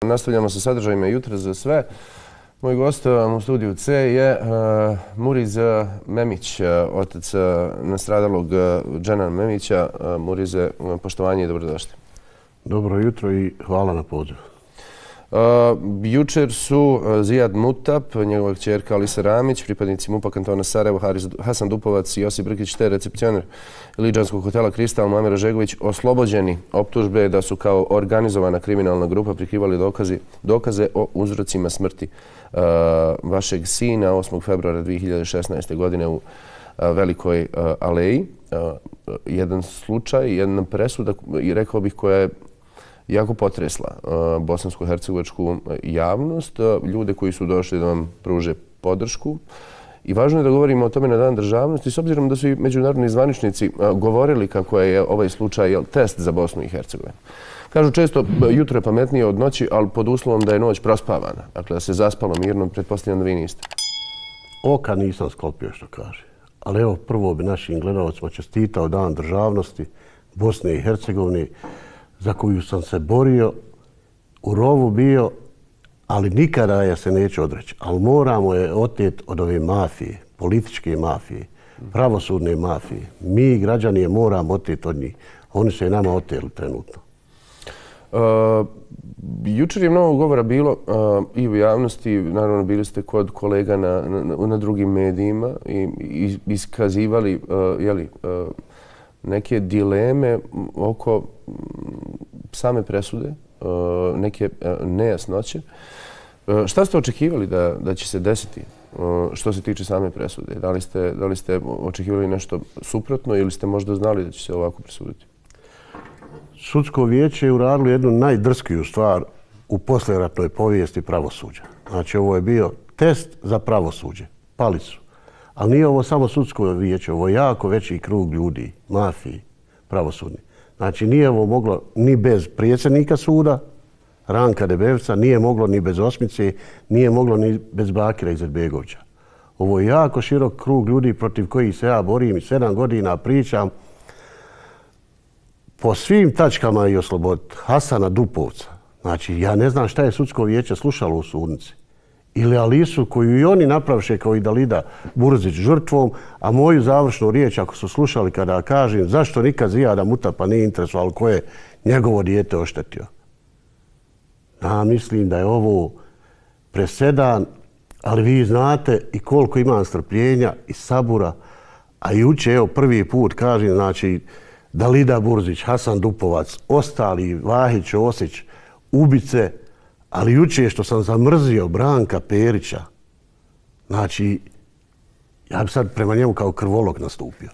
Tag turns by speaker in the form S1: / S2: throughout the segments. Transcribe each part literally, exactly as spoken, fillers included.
S1: Nastavljamo sa sadržajima jutra za sve. Moj gost u studiju C je uh, Muriz Memić, uh, otac uh, nastradalog uh, Dženana Memića. Uh, Murize, uh, poštovanje i dobrodošli.
S2: Dobro jutro i hvala na pozivu.
S1: Uh, jučer su uh, Zijad Mutap, njegova kćerka Alisa Ramić, pripadnici MUP-a kantona Sarajevo, Haris, Hasan Dupovac i Josip Brkić, te recepcioner Lidžanskog hotela Kristal Muamer Žegović oslobođeni optužbe da su kao organizovana kriminalna grupa prikrivali dokazi, dokaze o uzrocima smrti uh, vašeg sina osmog februara dvije hiljade šesnaeste. godine u uh, Velikoj uh, Aleji. Uh, jedan slučaj, jedna presuda, i rekao bih, koja je jako potresla uh, bosansko-hercegovačku javnost, uh, ljude koji su došli da vam pruže podršku. I važno je da govorimo o tome na Dan državnosti, s obzirom da su i međunarodni zvaničnici uh, govorili kako je ovaj slučaj jel, test za Bosnu i Hercegovinu. Kažu često, jutro je pametnije od noći, ali pod uslovom da je noć prospavana. Dakle, da se zaspalo mirno, pretpostavljam da vi niste.
S2: Oka nisam sklopio, što kaže. Ali evo, prvo bi našim gledalcima čestitao Dan državnosti Bosne i Hercegovine, za koju sam se borio, u rovu bio, ali nikada je se neće odreći. Ali moramo je oteti od ove mafije, političke mafije, pravosudne mafije. Mi, građani, je moramo oteti od njih. Oni su je nama oteli trenutno.
S1: Uh, jučer je mnogo govora bilo uh, i u javnosti, naravno bili ste kod kolega na, na, na drugim medijima i, i iskazivali uh, jeli, uh, neke dileme oko same presude, neke nejasnoće. Šta ste očekivali da, da će se desiti što se tiče same presude? Da li ste, da li ste očekivali nešto suprotno ili ste možda znali da će se ovako presuditi?
S2: Sudsko vijeće je uradilo jednu najdrskiju stvar u poslijeratnoj povijesti pravosuđa. Znači, ovo je bio test za pravosuđe. Pali su. Ali nije ovo samo sudsko vijeće, ovo je jako veći krug ljudi, mafiji, pravosudni. Znači, nije ovo moglo ni bez predsjednika suda, Ranka Debevca, nije moglo ni bez Osmice, nije moglo ni bez Bakira Izetbegovića. Ovo je jako širok krug ljudi protiv kojih se ja borim i sedam godina pričam po svim tačkama i osloboditi Hasana Dupovca. Znači, ja ne znam šta je sudsko vijeće slušalo u sudnici. Ili Alisu koju i oni napravše kao i Dalida Burzić žrtvom, a moju završnu riječ ako su slušali kada kažem zašto nikad Zijada Mutapa nije interesovalo ko je njegovo dijete oštetio. Ja mislim da je ovo presedan, ali vi znate i koliko imam strpljenja i sabura, a juče evo prvi put kažem, znači Dalida Burzić, Hasan Dupovac, ostali Vahić, Osić, ubice, ali juče što sam zamrzio Branka Perića, znači, ja bi sad prema njemu kao krvolog nastupio.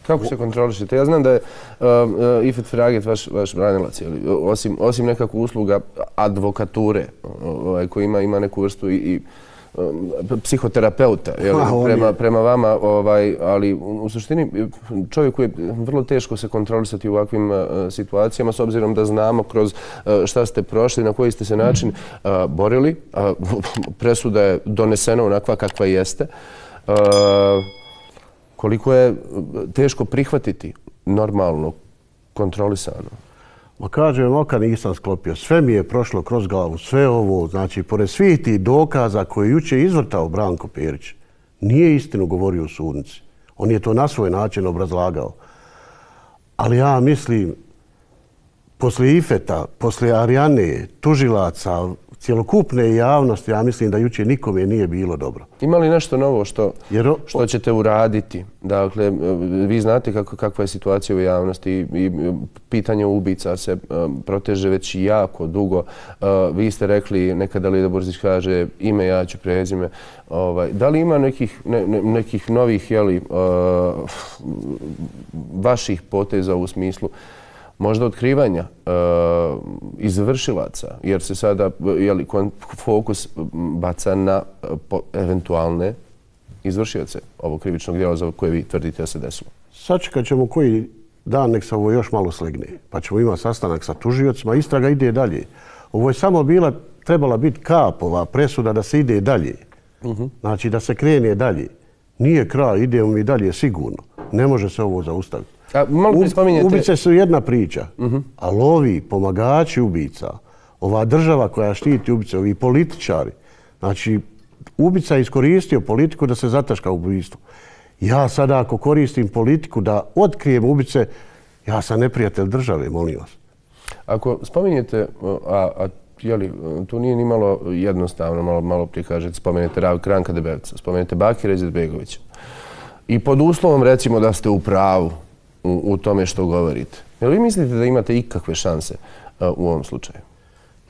S1: Kako se kontrolišete? Ja znam da je uh, uh, Ifet Feraget vaš, vaš branilac, osim, osim nekakvu usluga advokature, ovaj, koji ima, ima neku vrstu i, i um, psihoterapeuta jel, prema, prema vama, ovaj, ali u suštini čovjeku je vrlo teško se kontrolisati u ovakvim uh, situacijama, s obzirom da znamo kroz uh, šta ste prošli, na koji ste se način uh, borili. Uh, presuda je donesena onakva kakva jeste. Uh, koliko je teško prihvatiti normalno, kontrolisano?
S2: Ma kažem, oka nisam sklopio. Sve mi je prošlo kroz glavu, sve ovo. Znači, pored svih tih dokaza koje juče izvrtao Branko Perić, nije istinu govorio u sudnici. On je to na svoj način obrazlagao. Ali ja mislim, poslije Ifeta, poslije Arijane, tužilaca, cjelokupne javnosti, ja mislim da juče nikome nije bilo dobro.
S1: Ima li nešto novo što, Jer, što ćete uraditi? Dakle, vi znate kako, kakva je situacija u javnosti i, i pitanje ubica se um, proteže već jako dugo. Uh, vi ste rekli, nekada Dalida Burzić kaže ime, ja ću prezime. Ovaj, da li ima nekih, ne, ne, nekih novih jeli, uh, vaših poteza u smislu možda otkrivanja uh, izvršilaca, jer se sada jeli, fokus baca na uh, po, eventualne izvršioce ovog krivičnog djela za koje vi tvrdite da se desilo?
S2: Sačekat ćemo koji dan nek se ovo još malo slegne, pa ćemo imati sastanak sa tužiocima, istraga ide dalje. Ovo je samo bila, trebala biti kapova presuda da se ide dalje. Uh-huh. Znači da se krene dalje. Nije kraj, idemo mi dalje sigurno. Ne može se ovo zaustaviti.
S1: A, malo spominjete...
S2: Ubice su jedna priča, uh-huh. ali ovi pomagači ubica, ova država koja štiti ubice, ovi političari, znači ubica je iskoristio politiku da se zataška ubojstvo. Ja sada ako koristim politiku da otkrijem ubice, ja sam neprijatelj države, molim vas.
S1: Ako spominjete, a, a jeli, tu nije ni malo jednostavno, malo, malo prije kažete, spomenete Ranka Debevca, spomenete Bakira Izetbegovića. I pod uslovom recimo da ste u pravu u, u tome što govorite. Jel vi mislite da imate ikakve šanse a, u ovom slučaju?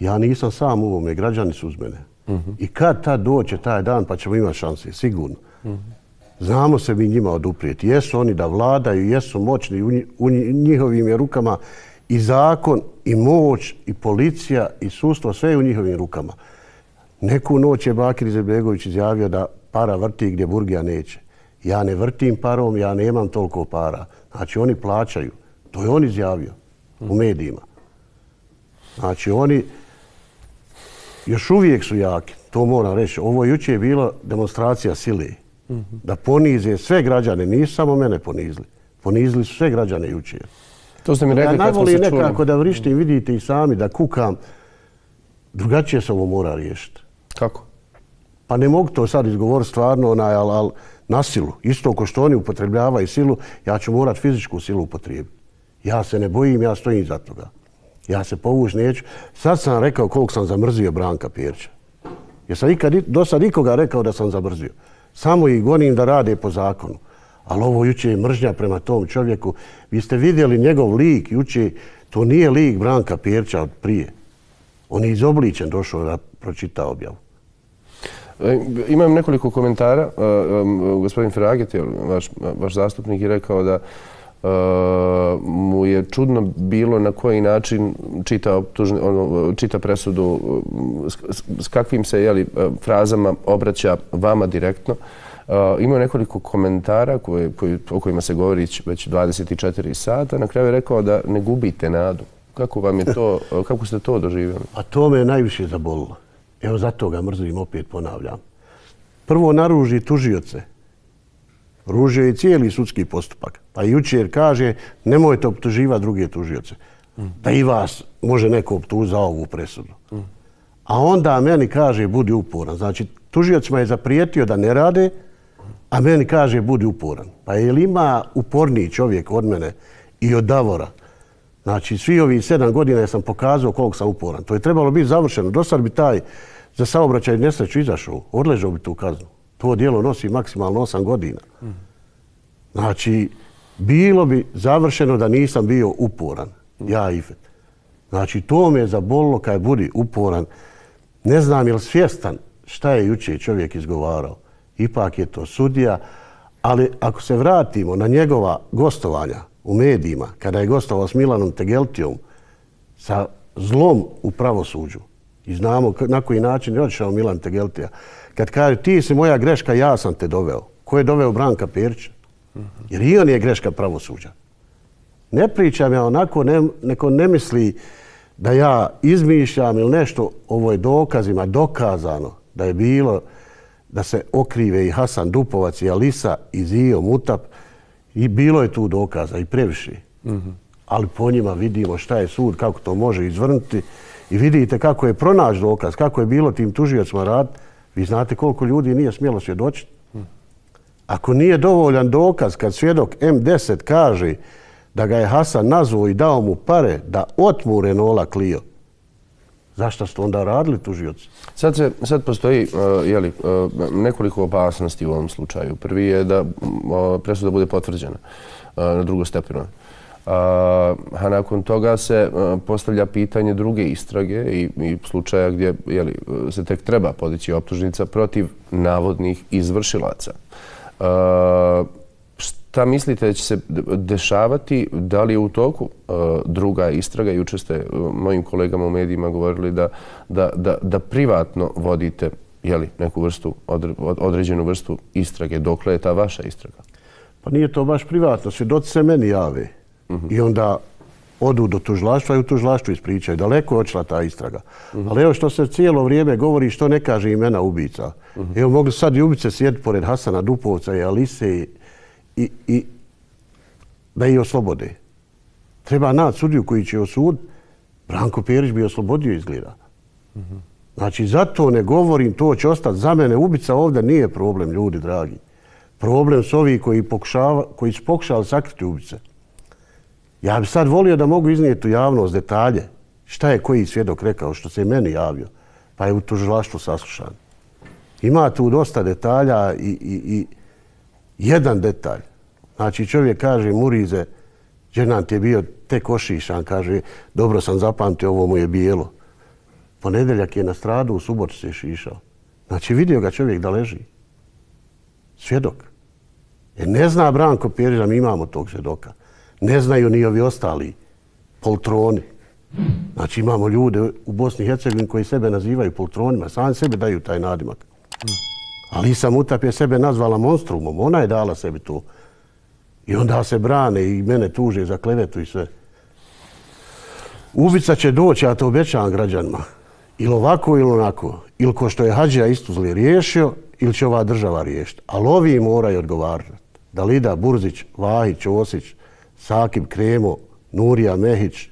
S2: Ja nisam sam u ovome, građani su uz mene. Uh-huh. I kad tad doće taj dan pa ćemo imati šanse, sigurno. Uh-huh. Znamo se mi njima oduprijeti. Jesu oni da vladaju, jesu moćni, u, u njihovim je rukama i zakon, i moć, i policija, i sudstvo, sve je u njihovim rukama. Neku noć je Bakir Izetbegović izjavio da para vrti gdje burgija neće. Ja ne vrtim parom, ja nemam toliko para. Znači oni plaćaju. To je on izjavio u medijima. Znači oni još uvijek su jaki, to moram reći. Ovo jučer je bila demonstracija sile. Da ponize sve građane, nisu samo mene ponizili. Ponizili su sve građane jučer.
S1: To ste mi rekli kad smo se čuli.
S2: Ja najvoli nekako da vrištim, vidite i sami, da kukam. Drugačije se ovo mora riješiti.
S1: Kako?
S2: Pa ne mogu to sad izgovoriti stvarno, onaj, ali al, na silu. Isto ko što oni upotrebljavaju silu, ja ću morat fizičku silu upotrijebiti. Ja se ne bojim, ja stojim za toga. Ja se povući neću. Sad sam rekao koliko sam zamrzio Branka Perića. Jer sam ikad, do sad nikoga rekao da sam zamrzio. Samo ih gonim da rade po zakonu. Ali ovo juče je mržnja prema tom čovjeku. Vi ste vidjeli njegov lik juče, to nije lik Branka Perića od prije. On je izobličen došao da pročita objavu.
S1: Imam nekoliko komentara. Gospodin Feraget, vaš, vaš zastupnik, je rekao da Uh, mu je čudno bilo na koji način čita, optužni, ono, čita presudu, s, s, s kakvim se jeli, frazama obraća vama direktno. Uh, imao nekoliko komentara koje, koji, o kojima se govori već dvadeset četiri sata. Na kraju je rekao da ne gubite nadu. Kako vam je to, kako ste to doživjeli?
S2: A to me najviše zabolilo. Evo zato ga mrzim, opet ponavljam. Prvo naruži tužioce. Ružio je cijeli sudski postupak. Pa jučer kaže nemojte optuživati druge tužioce. Mm. Da i vas može neko optužiti za ovu presudu. Mm. A onda meni kaže budi uporan. Znači tužiocima je zaprijetio da ne rade, a meni kaže budi uporan. Pa je li ima uporniji čovjek od mene i od Davora? Znači svi ovih sedam godina ja sam pokazao koliko sam uporan. To je trebalo biti završeno. Do sad bi taj za saobraćaj nesreću izašao. Odležao bi tu kaznu. To djelo nosi maksimalno osam godina. Znači, bilo bi završeno da nisam bio uporan. Ja i Ifet. Znači, to me je zabolilo kad budi uporan. Ne znam je li svjestan šta je jučer čovjek izgovarao. Ipak je to sudija. Ali ako se vratimo na njegova gostovanja u medijima, kada je gostovao s Milanom Tegeltijom, sa zlom u pravosuđu, i znamo na koji način je odšao Milan Tegeltija, kad kaže ti si moja greška, ja sam te doveo. Ko je doveo Branka Perića? Jer i on je greška pravosuđa. Ne pričam ja onako, ne, neko ne misli da ja izmišljam ili nešto, ovo je dokazima dokazano da je bilo da se okrive i Hasan Dupovac i Alisa i Zio Mutap i bilo je tu dokaza i previše. Mm-hmm. Ali po njima vidimo šta je sud, kako to može izvrnuti i vidite kako je pronaći dokaz, kako je bilo tim tužiocima raditi. Vi znate koliko ljudi nije smjelo svjedočiti. Ako nije dovoljan dokaz kad svjedok em deset kaže da ga je Hasan nazvao i dao mu pare da otmu Renaulta Clio, zašto ste onda radili tužioci?
S1: Sad, se, sad postoji uh, jeli, uh, nekoliko opasnosti u ovom slučaju. Prvi je da uh, presuda bude potvrđena uh, na drugostepenoj. Uh, a nakon toga se uh, postavlja pitanje druge istrage i, i slučaja gdje jeli, se tek treba podići optužnica protiv navodnih izvršilaca. Uh, šta mislite da će se dešavati? Da li je u toku uh, druga istraga? Juče ste uh, mojim kolegama u medijima govorili da, da, da, da privatno vodite jeli, neku vrstu, odre, određenu vrstu istrage. Dokle je ta vaša istraga?
S2: Pa nije to baš privatno. Svjedoci se meni jave. Uh-huh. I onda odu do tužilaštva i u tužilaštvu ispričaju. Daleko je odšla ta istraga. Uh-huh. Ali evo što se cijelo vrijeme govori, što ne kaže imena ubica. Uh-huh. Evo mogli sad i ubice sjediti pored Hasana Dupovca i Alise i, i, i da ih oslobode. Treba naći sudiju koji će osuditi. Branko Perić bi oslobodio izgleda. Znači, zato ne govorim, to će ostati. Za mene ubica ovdje nije problem, ljudi dragi. Problem su ovi koji, pokušava, koji su pokušali sakriti ubice. Ja bi sad volio da mogu iznijeti u javnost detalje šta je koji svjedok rekao, što se i meni javio, pa je u tužilaštvu saslušan. Ima tu dosta detalja i, i, i jedan detalj. Znači, čovjek kaže, Murize, ženant je bio tek ošišan, kaže, dobro sam zapamtio, ovo mu je bijelo. Ponedeljak je na stradu, u subotu se je šišao. Znači, vidio ga čovjek da leži. Svjedok. Jer ne zna Branko Perić da mi imamo tog svjedoka. Ne znaju ni ovi ostali poltroni. Znači, imamo ljude u Bosni i Hercegovini koji sebe nazivaju poltronima. Sami sebe daju taj nadimak. Alisa Mutap je sebe nazvala monstrumom. Ona je dala sebi to. I onda se brane i mene tuže za klevetu i sve. Ubica će doći, ja to obećavam građanima. Ili ovako ili onako. Ili ko što je Hadžija Istuzli riješio, ili će ova država riješiti. Ali ovi moraju odgovarati. Dalida Burzić, Vahić, Osić, Sakib Kremo, Nurija Mehić,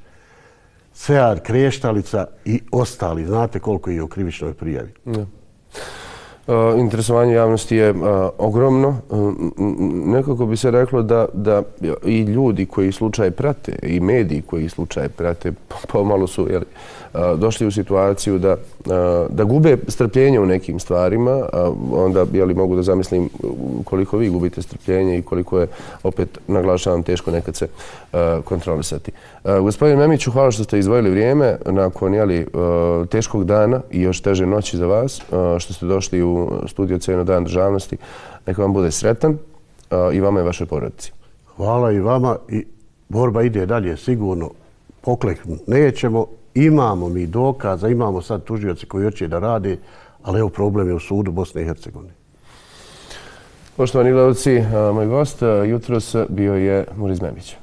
S2: Sead Kreštalica i ostali. Znate koliko je u krivičnoj prijavi.
S1: Ne. Uh, interesovanje javnosti je uh, ogromno. Uh, nekako bi se reklo da, da i ljudi koji slučaj prate i mediji koji slučaj prate pomalo su jeli, uh, došli u situaciju da, uh, da gube strpljenje u nekim stvarima. Uh, onda jeli, mogu da zamislim koliko vi gubite strpljenje i koliko je, opet naglašavam, teško nekad se uh, kontrolisati. Uh, gospodin Memiću, hvala što ste izdvojili vrijeme nakon jeli, uh, teškog dana i još teže noći za vas, uh, što ste došli u studio Ceno Dan državnosti. Neka vam bude sretan uh, i vama i vašoj porodici.
S2: Hvala i vama i borba ide dalje sigurno. Pokleknuti nećemo. Imamo mi dokaza, imamo sad tužioci koji hoće da rade, ali evo problem je u sudu Bosne i Hercegovine.
S1: Poštovani gledalci, uh, moj gost uh, jutros bio je Muriz Memić.